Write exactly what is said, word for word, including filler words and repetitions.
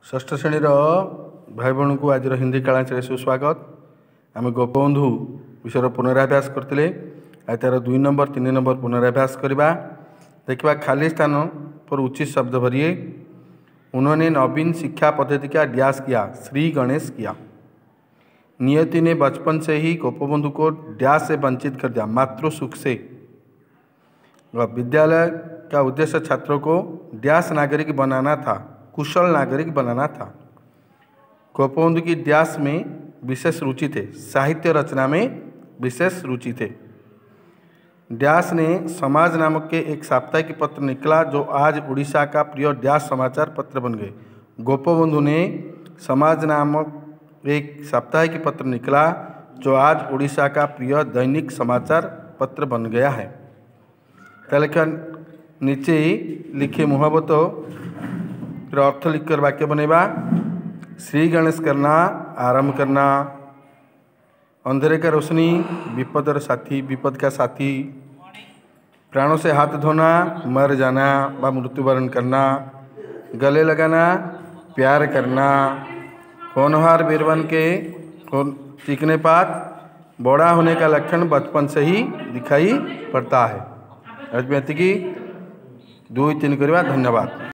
ଷଷ୍ଠ ଶ୍ରେଣୀର ଭାଇ ଭଉଣୀଙ୍କୁ ଆଜିର ହିନ୍ଦୀ କ୍ଲାସରେ ସୁସ୍ୱାଗତ। ଆମେ ଗୋପବନ୍ଧୁ ବିଷୟରେ ପୁନରାଭ୍ୟାସ କରିଥିଲେ। ଆଜି ତା'ର ଦୁଇ ନମ୍ବର, ତିନି ନମ୍ବର ପୁନରାଭ୍ୟାସ କରିବା। ଦେଖିବା, खाली स्थान पर उचित शब्द भरिए। उन्होंने नवीन शिक्षा पद्धति का डैश किया, श्री गणेश किया। नियति ने बचपन से ही गोपबंधु को डैश से वंचित कर दिया, मातृ सुख से। विद्यालय का उद्देश्य छात्रों को डैश नागरिक बनाना था, कुशल नागरिक बनाना था। गोपबंधु की डैश में विशेष रुचि थे, साहित्य रचना में विशेष रुचि थे। डैश ने समाज नामक के एक साप्ताहिक पत्र निकला, जो आज उड़ीसा का प्रिय डैश समाचार पत्र बन गए। गोपबंधु ने समाज नामक एक साप्ताहिक पत्र निकला, जो आज उड़ीसा का प्रिय दैनिक समाचार पत्र बन गया है। ତାହେଲେ नीचे लिखे मुहावतों अर्थ लिखकर वाक्य बनेगा। श्री गणेश करना, आरंभ करना। अंधेरे का रोशनी, विपद साथी, विपद का साथी। प्राणों से हाथ धोना, मर जाना व मृत्युवरण करना। गले लगाना, प्यार करना। होनहार बीरवन के चिकने पात, बड़ा होने का लक्षण बचपन से ही दिखाई पड़ता है। आज ଏତିକି। ଦୁଇ ତିନି କରିବା। ଧନ୍ୟବାଦ।